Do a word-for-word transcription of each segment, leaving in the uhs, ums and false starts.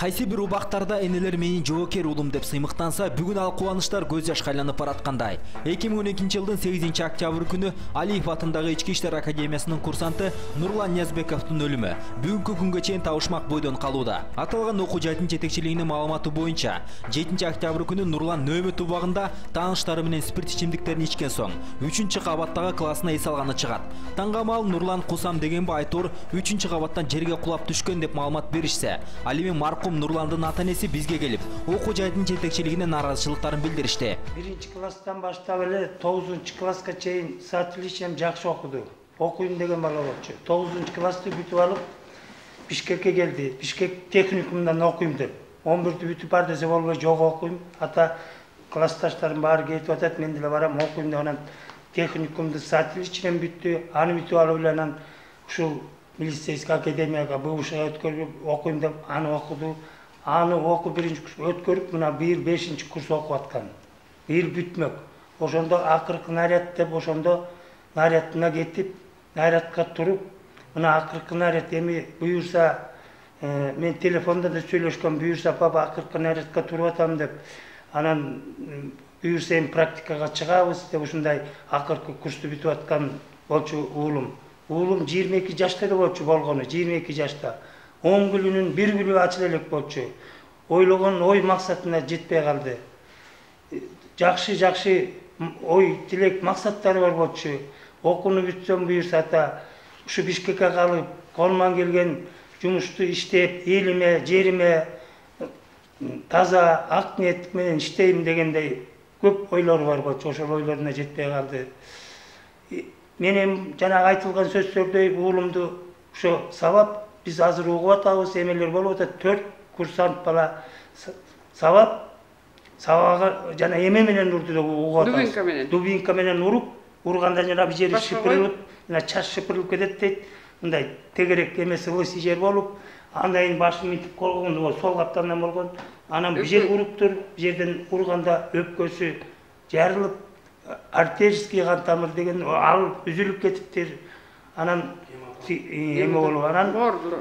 Кайсы бир убактарда энелер менин жоокер уулум деп сыймыктанса, бүгүн ал кубанычтар көз жашка айланып бараткандай. эки миң он экинчи жылдын сегизинчи октябрь күнү Алиев атындагы Ички иштер академиясынын курсанты Нурлан Ниязбековдун өлүмү бүгүнкү күнгө чейин табышмак бойдон калууда. Аталган окуу жайдын жетекчилигинин маалыматы боюнча, жетинчи октябрь күнү Нурлан нөөмөт убагында тааныштары менен спирт ичимдиктерин ичкен соң, үчүнчү кабаттагы классына эс алганы чыгат. Таңгамал Нурлан кусам дегенби айтор үчүнчү кабаттан жерге кулап түшкөн деп маалымат беришсе, ал эми маркум Нурландын ата-энеси бизге келип, окуу жайдын жетекчилигине нааразычылыктарын билдиришти. биринчи класстан баштап эле тогузунчу класска чейин с отличием жакшы окуду. Окуйм деген бала болчу. тогузунчу классты бүтүп алып, Бишкекке келди. Бишкек техникумунан окуйм деп. он бирди бүтүп бар десе болбой, жок окуйм. Ата классташтарым баары кетип атат, мен деле барам окуйм деп анан техникумду с отличием бүттү. Аны бүтүп алып эле анан ушул милицейский академияга бывшийга өткөрүп окуйм деп аны окуду. Аны окуп биринчи курс өткөрүп, мына быйыл бешинчи курс окуп аткан. Быйыл бүтмөк. Ошондо акыркы наряд деп ошондо нарядына кетип, нарядка туруп, мына акыркы наряд эми буюрса, мен телефонда да сүйлөшкөм, буюрса папа акыркы нарядка туруп атам деп. Анан буюрса эми практикага чыгабыз деп ушундай акыркы курсту бүтүп аткан болчу уулум. Уулум жыйырма эки жашта эле болчу болгону, жыйырма эки жашта. он күлүнүн бир күлү ачыла элек болчу. Ойлогон ой максатына жетпей калды. Жакшы жакшы ой, тилек, максаттары бар болчу. Окууну бүтсөм буюрса ата, ушу Бишкекке калып, колуман келген жумушту иштеп, элиме, жериме таза ак ниет менен иштейм дегендей көп ойлор бар болчу. Ошол ойлоруна жетпей калды. Менин жанагы айтылган сөздөрдөй уулумду ошо сабап биз азыр угуп атабыз, эмелер болуп атат. төрт курсант бала сабап, сабага жана эме менен урду деп угуп атабыз. Дубинка менен. Дубинка менен уруп, урганда жана бир жери шыпырылып, жана чаш шыпырылып кетет дейт. Мындай тегерек эмеси лысый жер болуп, андайын башы мынтип колгону сол каптандан болгон. Анан бир жер уруптур, бир жерден урганда өпкөсү жарылып, артерийский кан тамыр деген ал үзүлүп кетиптир. Анан эме болуп, анан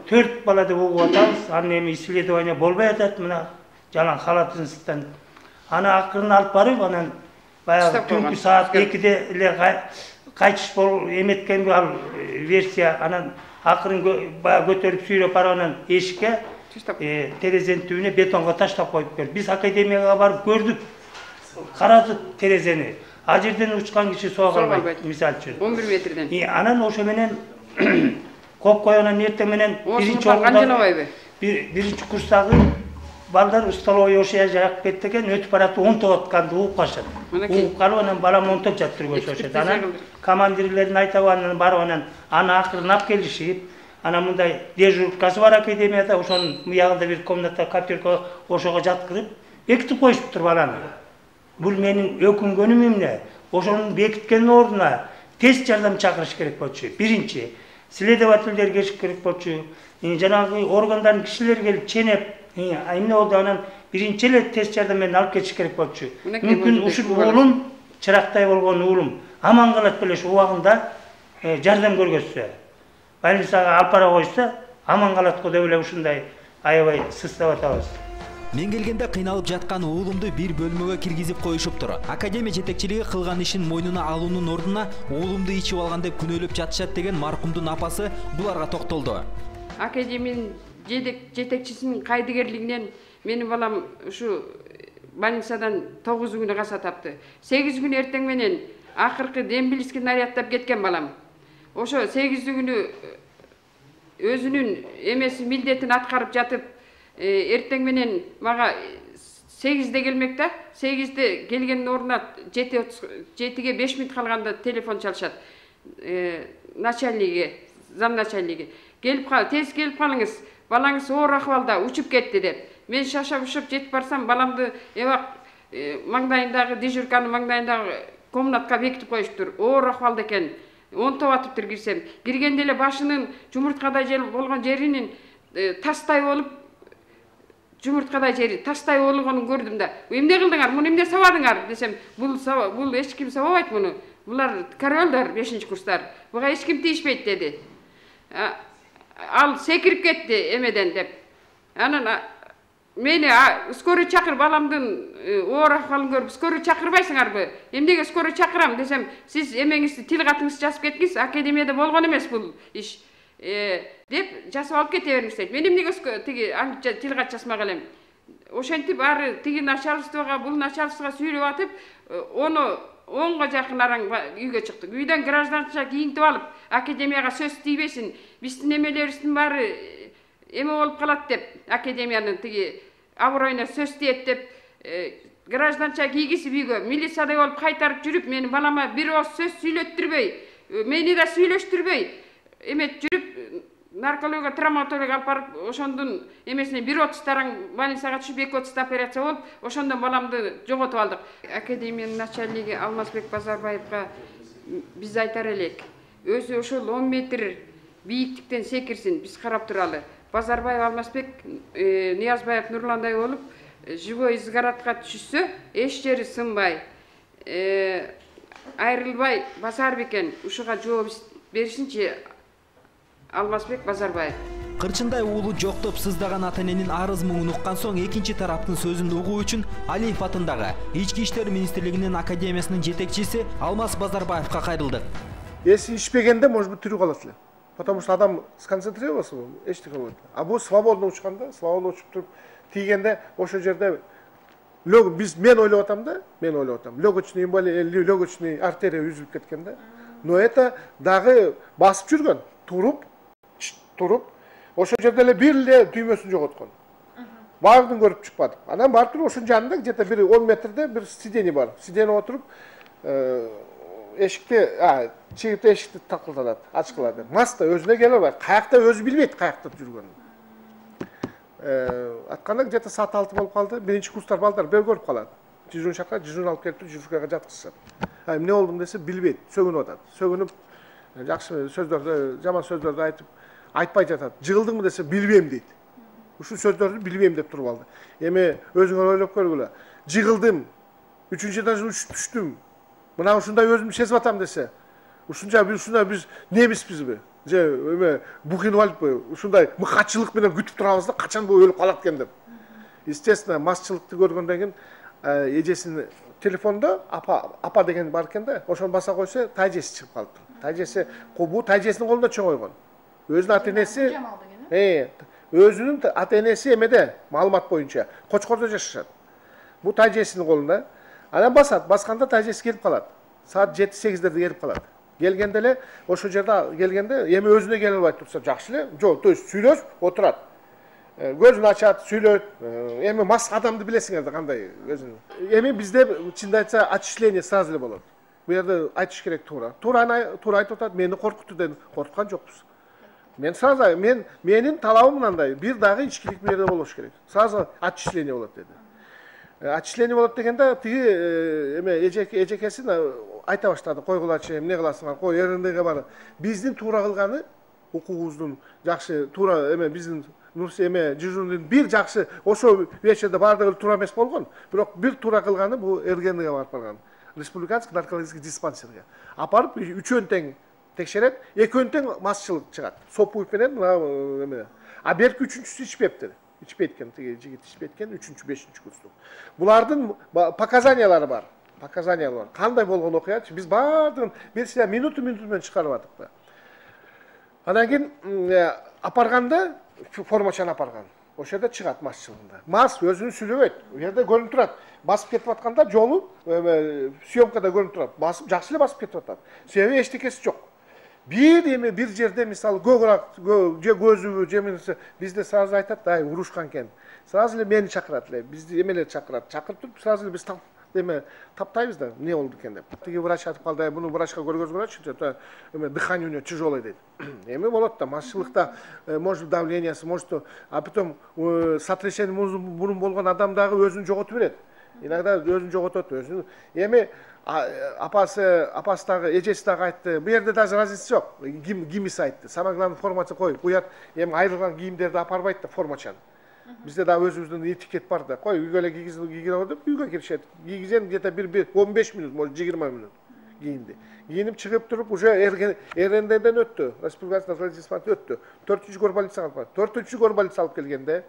төрт бала деп угуп атабыз. Анан эми исследование болбой атат, мына жалаң халатынсыздан. Аны акырын алып барып, анан баягы түнкү саат экиде эле кайтыш бол эметкенби ал версия. Анан акырын баягы көтөрүп сүйрөп барып анан эшикке терезенин түбүнө бетонго таштап коюп келди. Биз академияга барып көрдүк, карадык терезени. А жерден учкан киши сого албайт, мисалы үчүн. он бир метрден. Анан ошо менен коп койгондон эртең менен биринчи окууда биринчи курстагы балдар столовый ошо жак кетти экен, өтүп баратып онтоп атканды угуп калышат. Угуп калып анан балам онтоп жатыр көрсөтүшөт. Анан командирлерин айтабы, анан барып анан аны акырын алып келишип, анан мындай дежуркасы бар академияда, ошонун буягында бир комната, коптерка ошого жаткырып, бекитип коюшуптур баланы. Бул менин өкүнгөнүм эмне? Ошонун бекиткен ордуна тез жардам чакырыш керек болчу. Биринчи, следовательдер келиш керек болчу. Жанагы органдардын кишилери келип ченеп, эмне болду, анан биринчи эле тез жардам менен алып кетиш керек болчу. Мүмкүн ушул уулум, чырактай болгон уулум, аман калат белеш убагында жардам көргөзсө. Больницага алып бара койсо, аман калат го деп эле ушундай аябай сыстап атабыз. Мен келгенде кыйналып жаткан уулумду бир бөлмөгө киргизип коюшуптур. Академия жетекчилиги кылган ишин мойнуна алуунун ордуна уулумду ичип алган деп күнөөлөп жатышат деген маркумдун апасы буларга токтолду. Академиянын жетекчисинин кайдыгерлигинен менин балам ушу больницадан тогуз күнү каза тапты. сегиз күн эртең менен акыркы дембилский нарядтап кеткен балам. Ошо сегиз күнү өзүнүн эмеси милдетин аткарып жатып, эртең менен мага сегизде келмек да, сегизде келгендин ордуна жетиге беш мүнөт калганда телефон чалышат. Начальниги, зам начальниги. Келип кал, тез келип калыңыз. Балаңыз оор акыбалда учуп кетти деп. Мен шашап-ушуп жетип барсам, баламды эбак маңдайындагы дежурканын маңдайындагы комнатка бекитип коюштур. Оор акыбалда экен. Онтоп атыптыр кирсем. Киргенде эле башынын жумурткадай жер болгон жеринин тастай болуп, жумурткадай жери тастай болгонун көрдүм да. Эмне кылдыңар? Муну эмне сабадыңар десем, бул бул эч ким сабабайт муну. Булар королдор бешинчи курстар. Буга эч ким тийишпейт деди. Ал секирип кетти эмеден деп. Анан мени скорый чакыр, баламдын оор акыбалын көрүп скорый чакырбайсыңарбы? Эмнеге скорый чакырам десем, сиз эмеңизди, тил катыңызды жазып кеткиңиз, академияда болгон эмес бул иш деп жасап алып кете бериңиз дейт. Мен эмнеге тиги тил кат жазмак элем? Ошентип ары тиги начальствого, бул начальствого сүйлөп атып, ону онго жакын араң үйгө чыктык. Үйдөн гражданча кийинтип алып, академияга сөз тийбесин, биздин эмелерибиздин баары эме болуп калат деп, академиянын тиги аброюна сөз тиет деп, гражданча кийгизип үйгө милициядай болуп кайтарып жүрүп, менин балама бир ооз сөз сүйлөттүрбөй, мени да сүйлөштүрбөй, эме жүрүп наркология, травматология алып барып, ошондун эмесине бир отуз тараң больницага түшүп, эки отузда операция болуп, ошондон баламды жоготуп алдык. Академиянын начальниги Алмазбек Базарбаевга биз айтар элек, өзү ошол он метр бийиктиктен секирсин, биз карап туралы. Базарбаев Алмазбек, Ниязбаев Нурландай болуп, живой изгородко түшсө, эч жери сынбай, айрылбай басар бекен, ушуга жооп беришинчи Алмазбек Базарбаев. Кырчындай уулу жоктоп сыздаган ата-эненин арыз муңун уккан соң экинчи тараптын сөзүн угуу үчүн Алиев атындагы Ички иштер министрлигинин академиясынын жетекчиси Алмаз Базарбаевга кайрылдык. Если ишпегенде, может быть, тирүү калат эле. Потому что адам сконцентрировался, эчтеке болот. А бул свободно учканда, свободно учуп туруп тийгенде ошол жерде лёг биз мен ойлоп атам да, мен ойлоп атам. Легочный эмболия, легочный артерия үзүлүп кеткенде. Но это дагы басып жүргөн, туруп, туруп, ошол жерде эле бир эле түймөсүн жоготкон. Баардыгын көрүп чыкпадык. Анан барып туруп ошонун жанында где-то бир он метрде бир сиденье бар. Сиденье отуруп, эшикти, а, чегип эшикти такылдатат, ачкылады. Маста өзүнө келе албайт. Каякта өзү билбейт каякта жүргөнүн. Э, атканда где-то саат алты болуп калды. Биринчи курстар балдар бир көрүп калат. Дежурный шакырат, дежурный алып келип дежуркага жаткызышат. А эмне болду десе билбейт, сөгүнүп атат. Сөгүнүп, жакшы сөздөрдү, жаман сөздөрдү айтып, айтпай жатат. Жыгылдыңбы десе билбейм дейт. Ушул сөздөрдү билбейм деп туруп алды. Эми өзүңөр ойлоп көргүлө. Жыгылдым, үчүнчү этаждан учуп түштүм. Мына ушундай өзүмдү сезип атам десе, ушунча биз ушундай биз немиспизби? Же эме бухинип алыппы? Ушундай мыкачылык менен күтүп турабыз да, качан бул өлүп калат экен деп. Естественно, масчылыкты көргөндөн кийин эжесинин телефондо апа апа деген бар экен да, ошону баса койсо тайжеси чыгып калыптыр. Тайжеси, бул тайжесинин колунда чоң ойгон. Өзүнүн ата-энеси, э, өзүнүн ата-энеси эмеде, маалымат боюнча Кочкордо жашашат. Бул тайжесинин колунда. Анан басат, басканда тайжеси келип калат. Саат жети сегиздерде келип калат. Келгенде эле ошол жерде келгенде эми өзүнө келе албай турса жакшы эле, жок, то есть сүйлөшүп отурат. Көзүн ачат, сүйлөйт. Эми мас адамды билесиңер да кандай өзүн. Эми бизде чынды айтса отчисление сразу эле болот. Бу жерде айтыш керек туура. Туура туура айтып атат, мени коркутту деп коркуткан жокпуз. Мен сразу мен менин талабым мындай, бир дагы ичкилик бу жерде болуш керек. Сразу отчисление болот деди. Отчисление болот дегенде тиги эме эжеке эжекесин айта баштады. Койгулачы, эмне кыласыңар? Кой, эрендеге бар. Биздин туура кылганы укугубуздун жакшы туура эме биздин Нурси эме жүзүндүн бир жакшы ошо вечерде баардыгы туура эмес болгон. Бирок бир туура кылганы бул эрендеге барып барган. Республиканский наркологический диспансерге апарып үчөөн тең текшерет, экөөнүн тең масчылык чыгат. Сопуев менен эме. А берки үчүнчүсү ичпептир. Ичпейт экен, тиги жигит ичпейт экен, үчүнчү, бешинчи курстук. Булардын показаниялары бар. Показаниялар бар. Кандай болгон окуячы? Биз баардыгын бир сия минуту минуту менен чыгарып атык да. Анан кийин апарганда формачаны апарган. Ошол жерде чыгат масчылыгында. Мас өзүн сүйлөбөйт. У жерде көрүнүп турат. Басып кетип атканда жолу съемкада көрүнүп турат. Басып жакшы эле басып кетип атат. Себеби эчтекеси жок. Бир эме бир жерде мисалы көкүрак же көзүбү же бизде сразу айтат, ай урушкан экен. Сразу эле мени чакырат эле, бизди эмелер чакырат. Чакырып туруп сразу эле биз эме таптайбыз да, эмне болду экен деп. Тиги врач айтып калды, буну врачка көргөзгүлөчү, это эме дыхание у него тяжелое дейт. Эме болот да, масчылыкта может давлениеси, может, а потом сотрясение мурун болгон адам дагы өзүн жоготуп берет. Иногда өзүн жоготот, өзүн. Эми апасы, апасы дагы, эжеси дагы айтты. Бу жерде даже разница жок. Гимис айтты. Самое главное формация кой. Буят эми айрылган кийимдерди апарбайт да формачан. Бизде да өзүбүздүн этикет бар да. Кой, үйгө эле кийгизип кийгире деп үйгө киришет. Кийгизен где-то бир он беш минут, может жыйырма минут кийинди. Кийинип чыгып туруп уже эрендеден өттү. Республиканский наркологический диспансер өттү. төртүнчү горбольницага алып барып. төртүнчү горбольница алып келгенде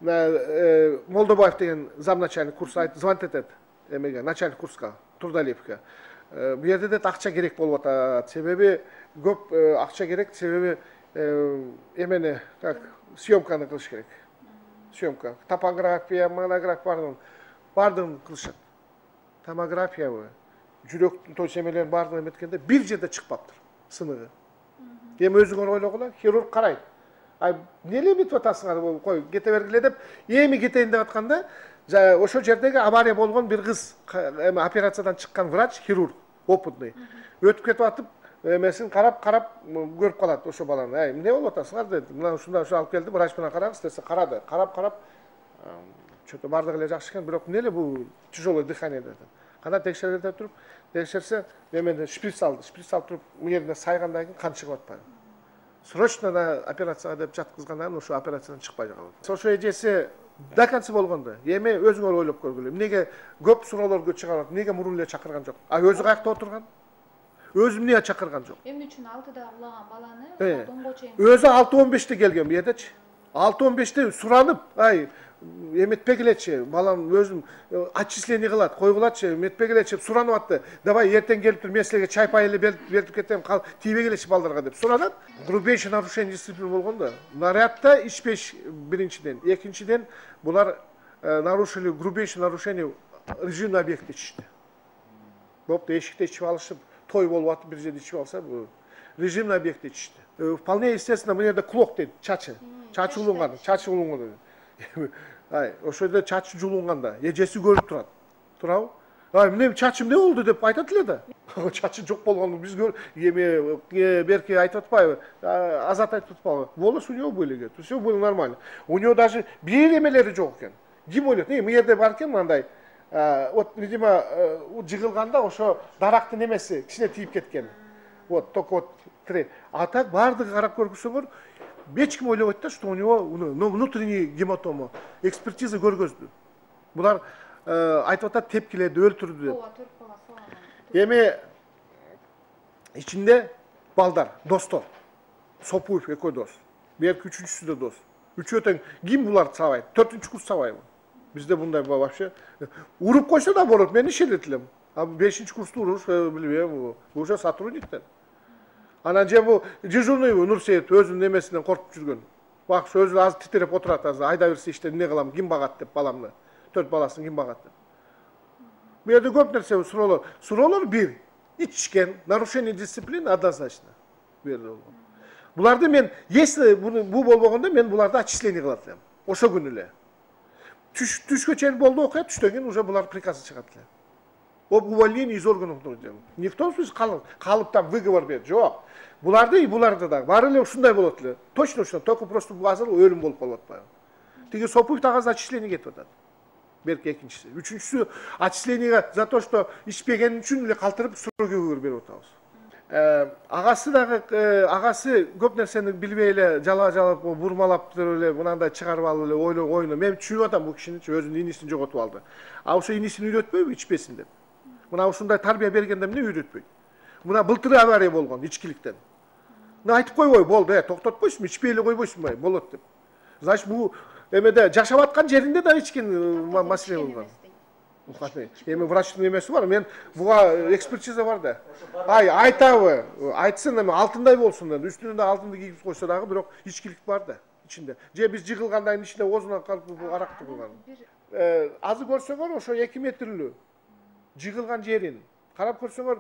Молдобаев деген замначальник курс звонит этет эмеге, начальник курска, Турдалиевке. Бу жерде де акча керек болуп атат. Себеби көп акча керек, себеби эмени как съемканы кылыш керек. Съемка, топография, монография бардыгын бардыгын кылышат. Томографиябы, жүрөктүн точ эмелерин бардыгын эметкенде бир жерде чыкпаптыр сыныгы. Эми өзүңөр ойлогула, хирург карайт. Ай, эмне эметип атасыңар, кой, кете бергиле деп, эми кетейин деп атканда, ошол жердеги авария болгон бир кыз, эми операциядан чыккан врач, хирург, опытный. Өтүп кетип атып, эмесин карап, карап көрүп калат ошо баланы. Ай, эмне болуп атасыңар деди. Мына ушундай ушо алып келди, врач менен карагыз десе, карады. Карап, карап, чөтө бардыгы эле жакшы экен, бирок эмне эле бул тяжелое дыхание деди. Кана текшерет деп туруп, текшерсе, эмени шприц алды. Шприц алып туруп, мыйеринен сайгандан кийин кан чыгып атпайбы. Срочно да операцияга деп жаткызгандан кийин ошо операциядан чыкпай калды. Ошо эжеси до конца болгондо, эми өзүңөр ойлоп көргүлө. Эмнеге көп суроолорго чыгарат, эмнеге мурун эле чакырган жок? А өзү каякта отурган? Өзү эмне чакырган жок? Эмне үчүн алтыда улаган баланы тонго чейин? Өзү алты он беште келген бу жердечи. алты он беште суранып, ай, эметпегилечи, балам өзүм отчисление кылат, койгулачы, эметпегилечи суранып атты. Давай эртең келип тур, мен силерге чай пай эле берип кетем, тийбегилечи балдарга деп суранат. Грубейший нарушение дисциплины болгондо, нарядда ичпеш биринчиден, экинчиден булар нарушили грубейший нарушение режимный объектте ичишти. Бопты эшикте ичип алышып, той болуп атып бир жерде ичип алса, бу режимный объектте ичишти. Вполне естественно, мына жерде клок дейт, чачы, чачы улунган, чачы улунган. Ай, ошол жерде чачы жулунганда эжеси көрүп турат. Турабы? Ай, эмне чачым эмне болду деп айтат эле да. Чачы жок болгону биз көр, эми берки айтып атпайбы? Азат айтып атпайбы? Волос у него были, говорит. Всё было нормально. У него даже бир эмелери жок экен. Ким ойлойт? Э, мына жерде бар экен мындай. Вот, видимо, жыгылганда ошо дарактын эмеси кичине тийип кеткен. Вот, только вот тре. А так бардыгы карап көрсөңөр, эч ким ойлобойт да, что у него внутренний гематома. Экспертиза көргөздү. Булар айтып атат, тепкиледи, өлтүрдү деп. Эми ичинде балдар, достор. Сопуев экөө дос. Берки үчүнчүсү да дос. Үчөө тең ким булар сабайт? төртүнчү курс сабайбы? Бизде мындай вообще уруп койсо да болот, мен ишенет элем. А бешинчи курсту уруш, билбейм, бул уже сотрудниктер. Анан же бул дежурный Нурсейит өзүнүн эмесинен коркуп жүргөн. Бак, өзү азыр титиреп отурат, азыр айда берсе иште эмне кылам, ким багат деп баламды. Төрт баласын ким багат деп. Бу жерде көп нерсе суроолор. Суроолор бир. Ичкен, нарушение дисциплины однозначно. Бу жерде болгон. Буларды мен, если бул болбогондо мен буларды отчисление кылат элем. Ошо күнү эле. Түш түшкө чейин болду окуя, түштөн кийин уже булар приказы чыгат эле. Об увольнении из органов труда. Никто в смысле калып, калып там выговор берет. Жок. Буларды и буларды да. Баары эле ушундай болот эле. Точно ушундай. Только просто азыр өлүм болуп калып атпайбы. Тиги Сопуев дагы отчисление кетип атат. Берки экинчиси. Үчүнчүсү отчислениеге за то, что ичпеген үчүн эле калтырып строгий выговор берип атабыз. Агасы дагы агасы көп нерсени билбей эле жала-жалап, бурмалап эле мынандай чыгарып алып эле ойлоо ойно. Мен түшүнүп атам бул кишини, өзүнүн инисин жоготуп алды. А ошо инисин үйрөтпөйбү ичпесин деп. Мына ушундай тарбия бергенде эмне үйрөтпөйт? Мына былтыр авария болгон ичкиликтен. Мына айтып койбой, болду, э, токтотпойсуңбу, ичпей эле койбойсуңбу, болот деп. Значит, бул эмеде жашап аткан жеринде да ичкен маселе болгон. Эми врачтын эмеси бар, мен буга экспертиза бар да. Ай, айтабы, айтсын эми алтындай болсун деп, үстүнө алтынды кийип койсо дагы, бирок ичкилик бар да ичинде. Же биз жыгылгандан кийин ичинде озунан калып аракты кылган. Э, азыр көрсөңөр ошо эки метрлүү жыгылган жерин карап көрсөңөр,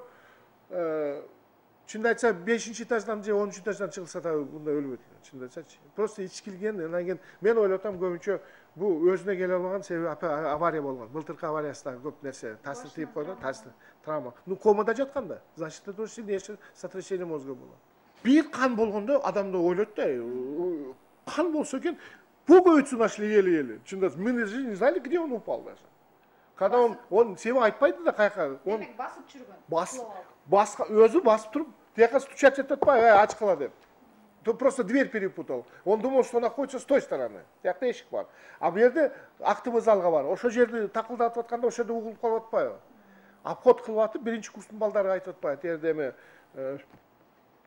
чынды айтса бешинчи этаждан же онунчу этаждан чыгылса да мындай өлбөйт. Чынды айтсачы. Просто ичкилген, анан кийин мен ойлотам көбүнчө бул өзүнө келе албаган себеби авария болгон. Былтыркы авариясында көп нерсе таасир тийип койду, таасир, травма. Ну комада жатканда, значит, это сильнейшее сотрясение мозга было. Бир кан болгондо адамды ойлойт да, кан болсо экен, пуговицу нашли еле-еле. Чынды, мы не знали, где он упал даже. Когда он, он себе айтпайды да каяка. Он басып жүргөн. Бас, баска, өзү басып туруп, тияка стучать этпай, ач кала деп. То просто дверь перепутал. Он думал, что находится с той стороны. Тиякта эшик бар. А бу жерде актовый залга бар. Ошо жерди такылдатып атканда ошо жерде угулуп калып атпайбы? Обход кылып атып, биринчи курстун балдары айтып атпайбы? Тиерде эми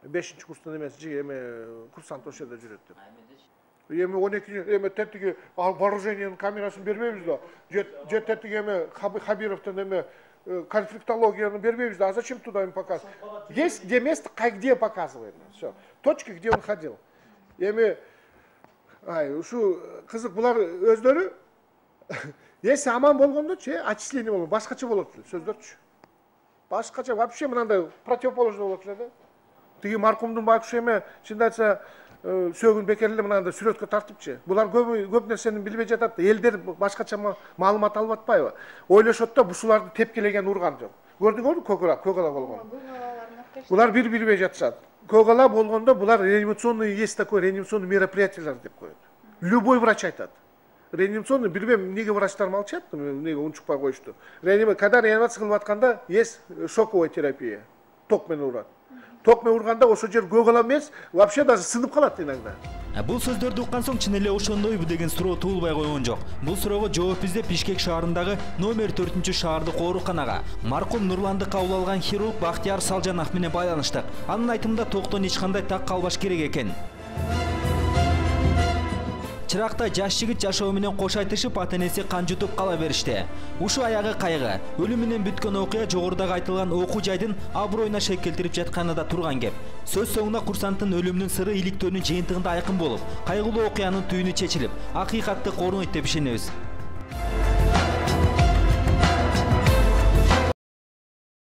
бешинчи курстун эмеси, эми курсант ошо жерде жүрөт деп. Эми он эки эме тетиги вооружениянын камерасын бербейбиз да. Же тетиги эме Хабировдун эме конфликтологияны бербейбиз да. А зачем туда им показывать? Есть где место, где показывает. Все. Точки, где он ходил. Эми ай, ушу кызык булар өздөрү если аман болгондочу, отчисление болот, башкача болот сөздөрчү. Башкача вообще мынандай противоположный болот эле да. Тиги маркумдун байкуш эме чындап айтса сөөгүн бекер эле мынандай сүрөткө тартыпчы. Булар көп көп нерсени билбей жатат да. Элдер башкача маалымат алып атпайбы? Ойлошот да бушуларды тепкилеген урган жок. Көрдүңөрбү көкала, көкала болгон. Булар бир билбей жатышат. Көкала болгондо булар реанимационный, есть такое реанимационный мероприятиялар деп коет. Любой врач айтат. Реанимационный, билбейм, эмнеге врачтар молчат, эмнеге унчукпай коюшту. Реанимация, когда реанимация кылып атканда, есть шоковая терапия. Ток менен урат. Ток менен урганда ошо жер көкала эмес, вообще даже сынып калат иногда. Бул сөздөрдү уккан соң чын эле ошондойбу деген суроо туулбай койгон жок. Бул суроого жооп издеп Бишкек шаарындагы номер төртүнчү шаардык ооруканага маркум Нурланды кабыл алган хирург Бактияр Салжанов менен байланыштык. Анын айтымында токтон эч кандай так калбаш керек экен. Чыракта жаш жигит жашоо менен кош айтышып, ата-энеси кан жутуп кала беришти. Ушу аягы кайгы. Өлүм менен бүткөн окуя жогорудагы айтылган окуу жайдын аброюна шек келтирип жатканында турган кеп. Сөз соңунда курсанттын өлүмүнүн сыры иликтөөнүн жыйынтыгында айкын болуп, кайгылуу окуянын түйүнү чечилип, акыйкатты корунойт деп ишенебиз.